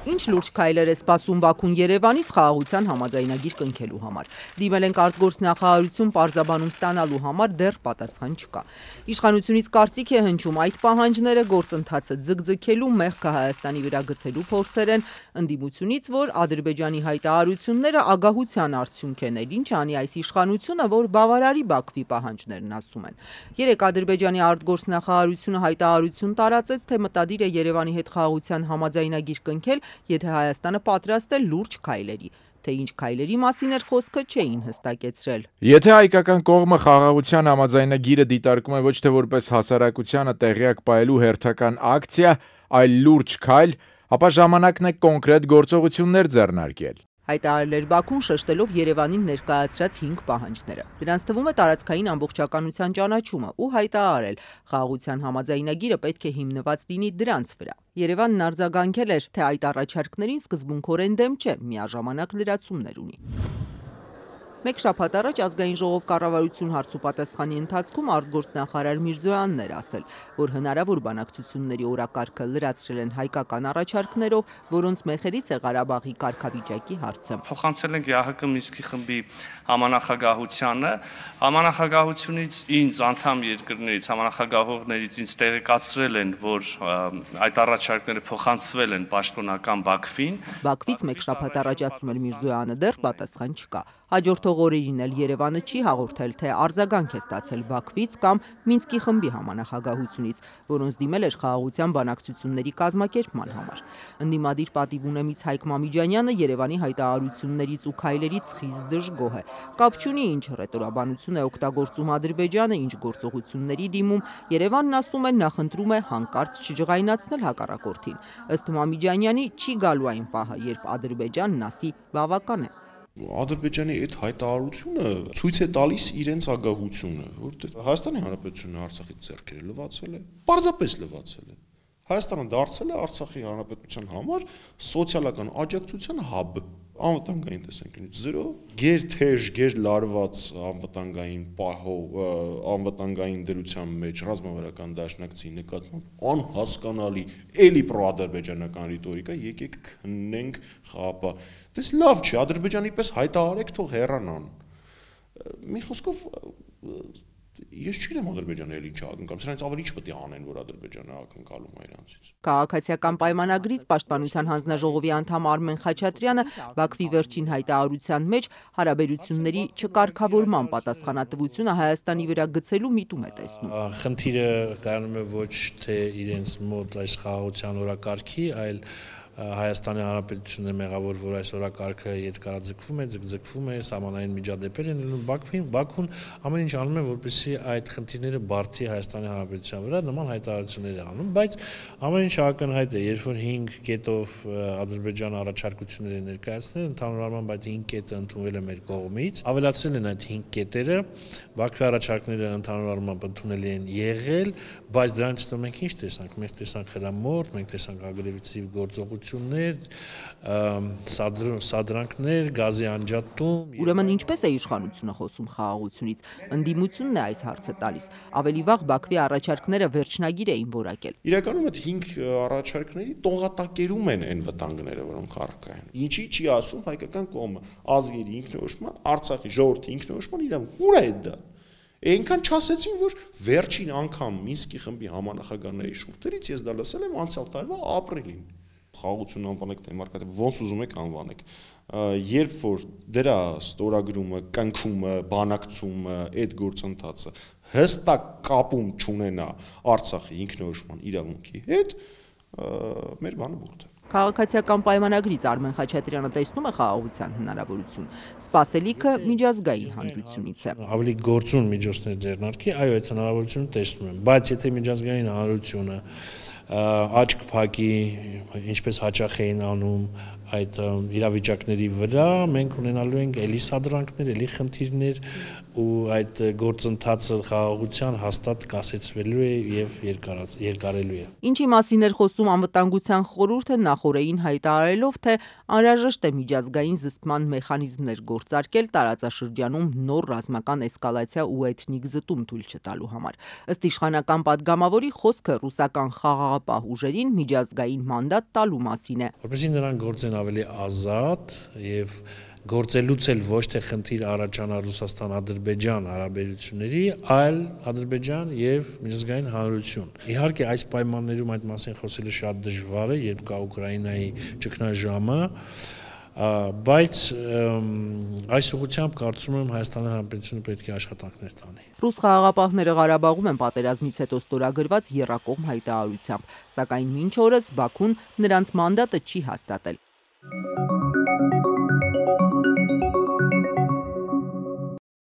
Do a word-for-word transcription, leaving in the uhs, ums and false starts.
Ինչ լուրջ քայլեր է սպասում Բաքուն Երևանից խաղաղության համաձայնագիր կնքելու համար։ Դիմել ենք արտգործնախարարություն պարզաբանում ստանալու համար դեռ պատասխան չկա։ Իշխանությունից կարծիք է հնչում այդ պահանջները գործընթացը ձգձգելու մեղքը Հայաստանի վրա գցելու փորձեր են, ընդդիմությունից, որ Ադրբեջանի հայտարարությունները ագահության արդյունք են, ինչ անի այս իշխանությունը, որ բավարարի Բաքվի պահանջներն ասում են։ Երեկ Ադրբեջանի արտգործնախարարությունը հայտարարություն տարածեց, թե մտադիր է Երևանի հետ խաղաղության համաձայնագիր կնքել, եթե Հայաստանը պատրաստ է լուրջ քայլերի, թե ինչ քայլերի մասին էր խոսքը չէին հստակեցրել։ Եթե հայկական կողմը խաղաղության համաձայնագիրը դիտարկում է ոչ թե որպես հասարակությանը տեղյակ պահելու հերթական ակցիա, այլ լուրջ քայլ, ապա ժամանակն է կոնկրետ գործողություններ ձեռնարկել։ Հայտարարել էր Բաքուն, շեշտելով Երևանին ներկայացրած հինգ պահանջները։ Դրանց թվում է տարածքային ամբողջականության ճանաչումը ու հայտարարել, խաղաղության համաձայնագիրը պետք է հիմնված լինի դրանց վրա։ Երևանն արձագանքել էր, թե այդ առաջարկներին սկզբունքորեն դեմ չէ, միաժամանակ լրացումներ ունի։ Մեկ շաբաթ առաջ Ազգային ժողով կառավարություն հարցուպատասխանի ընթացքում արտգործնախարար Միրզոյանն էր ասել, որ հնարավոր բանակցությունների օրակարգը լրացրել են հայկական առաջարկներով, որոնց մեխերից է Ղարաբաղի կարգավիճակի հարցը։ Փոխանցել ենք ԵԱՀԿ Մինսկի խմբի համանախագահությանը, համանախագահությունից ինձ անդամ երկրներից, համանախագահողներից ինձ տեղեկացրել են, որ այդ առաջարկները փոխանցվել են պաշտոնական Բաքվին։ Բաքվից մեկ շաբաթ առաջ ասում էր Միրզոյանը, դեռ պատասխան չկա։ Հաջորդող օրերին էլ Երևանը չի հաղորդել, թե արձագանք է ստացել Բաքվից կամ Մինսկի խմբի համանախագահությունից, որոնց դիմել էր խաղաղության բանակցությունների կազմակերպման համար։ Ընդդիմադիր պատիվ ունեմից Հայկ Մամիջանյանը Երևանի հայտարարություններից ու քայլերից խիստ դժգոհ է։ Կապ չունի ինչ ռետորաբանություն է օգտագործում Ադրբեջանը, ինչ գործողությունների դիմում, Երևանն ասում է նախընտրում է հանկարծ չջղայնացնել հակառակորդին։ Ըստ Մամիջանյանի չի գալու այն պահը, երբ Ադրբեջանն ասի բավական է։ Ադրբեջանի այդ հայտարարությունը ցույց է տալիս իրենց ագահությունը, որովհետև Հայաստանի Հանրապետությունը Արցախից ձեռքերը լվացել է, պարզապես լվացել է։ Հայաստանը դարձել է Արցախի Հանրապետության համար սոցիալական աջակցության հաբ, անվտանգային տեսանկյունից զրո, գերթեժ, գերլարված անվտանգային պահով, անվտանգային դրության մեջ ռազմավարական դաշնակցի նկատմամբ անհասկանալի էլի պրոադրբեջանական ռիտորիկա, եկեք քննենք խաղապահ։ Դες լավ չէ, Ադրբեջանի պես հայտարարեք, թող հեռանան։ Մի խոսքով ես չգիտեմ Ադրբեջանը էլ ինչ ակնկալում, սրանից ավելի ինչ պետք է անեն, որ Ադրբեջանը ակնկալում է իրանցից։ Քաղաքացիական պայմանագրից Պաշտպանության հանձնաժողովի անդամ Արմեն Խաչատրյանը Բաքվի վերջին հայտարարության մեջ հարաբերությունների չկարգավորման պատասխանատվությունը Հայաստանի վրա գցելու միտում է տեսնում։ Խնդիրը կայանում է ոչ թե իրենց մոտ այս խաղաղության օրակարգի, այլ Հայաստանի Հանրապետությունն է մեղավոր, որ այս օրակարգը ետկարաձգվում է, ձգձգվում է, սահմանային միջադեպեր են լինում Բաքվին, Բաքուն ամեն ինչ անում է, որպեսզի այդ խնդիրները բարդի Հայաստանի Հանրապետության վրա, նման հայտարարություններ է անում, բայց ամեն ինչ ակնհայտ է, երբ որ հինգ կետով Ադրբեջանը առաջարկություններ է ներկայացնել, ընդհանուր առմամբ այդ հինգ կետը ընդունվել է մեր կողմից, ավելացել են այդ հինգ կետերը, Բաքվի առաջարկները ընդհանուր առմամբ ընդունելի են եղել, բայց դրանից հետո մենք ինչ տեսանք, մենք տեսանք խրամորդ, մենք տեսանք ագրեսիվ գործողություն, սադրանքներ, գազի անջատում։ Ուրեմն ինչպես է իշխանությունը խոսում խաղաղությունից, ընդդիմությունն է այս հարցը տալիս, ավելի վաղ Բաքվի առաջարկները վերջնագիր էին որակել։ Իրականում այդ հինգ առաջարկների տողատակերում են այն վտանգները, որոնք առկա են։ Ինչի չի ասում հայկական կողմը, ազգերի ինքնորոշման, Արցախի ժողովրդի ինքնորոշման իրավունք, ուր է դա։ Այնքան չասեցին, որ վերջին անգամ Մինսկի խմբի համանախագահների շուրթերից ես դա լսել եմ անցյալ տարվա ապրիլին։ Խաղաղություն անվանեք դեմոկրատիա, ոնց ուզում եք անվանեք։ Երբ որ դրա ստորագրումը, կնքումը, բանակցումը, այդ գործընթացը հստակ կապում չունենա Արցախի ինքնորոշման իրավունքի հետ, մեր բանը բուրդ է։ Քաղաքացիական պայմանագրից Արմեն Խաչատրյանը տեսնում է խաղաղության հնարավորություն։ Սպասելիքը միջազգային հանրությունից է։ Ավելի գործուն միջոցներ ձեռնարկի, այո, այդ հնարավորությունը տեսնում եմ, բայց եթե միջազգային հանրությունը աչք փակի, ինչպես հաճախ էին անում այդ իրավիճակների վրա, մենք ունենալու ենք էլի սադրանքներ, էլի խնդիրներ ու այդ գործընթացը խաղաղության հաստատ կասեցվելու է եւ երկարելու է։ Ինչի մասին էր խոսում անվտանգության խորհուրդը նախորդին հայտարարելով, թե անհրաժեշտ է միջազգային զսպման մեխանիզմներ գործարկել տարածաշրջանում նոր ռազմական էսկալացիա ու էթնիկ զտում թույլ չտալու համար։ Ըստ իշխանական պատգամավորի խոսքը ռուսական խաղաղ խաղաղապահ ուժերին միջազգային մանդատ տալու մասին է։ Որպեսզի նրանք գործեն ավելի ազատ եւ գործելուց էլ ոչ թե խնդիր առաջանա Ռուսաստան-Ադրբեջան հարաբերությունների, այլ Ադրբեջան եւ միջազգային հանրություն։ Իհարկե այս պայմաններում այդ մասին խոսելը շատ դժվար է, երբ կա Ուկրաինայի ճգնաժամը, բայց այս ուղղությամբ կարծում եմ Հայաստանի Հանրապետությունը պետք է աշխատանքներ տանի։ Ռուս խաղաղապահները Ղարաբաղում են պատերազմից հետո ստորագրված եռակողմ հայտարարությամբ, սակայն մինչ օրս Բաքուն նրանց մանդատը չի հաստատել։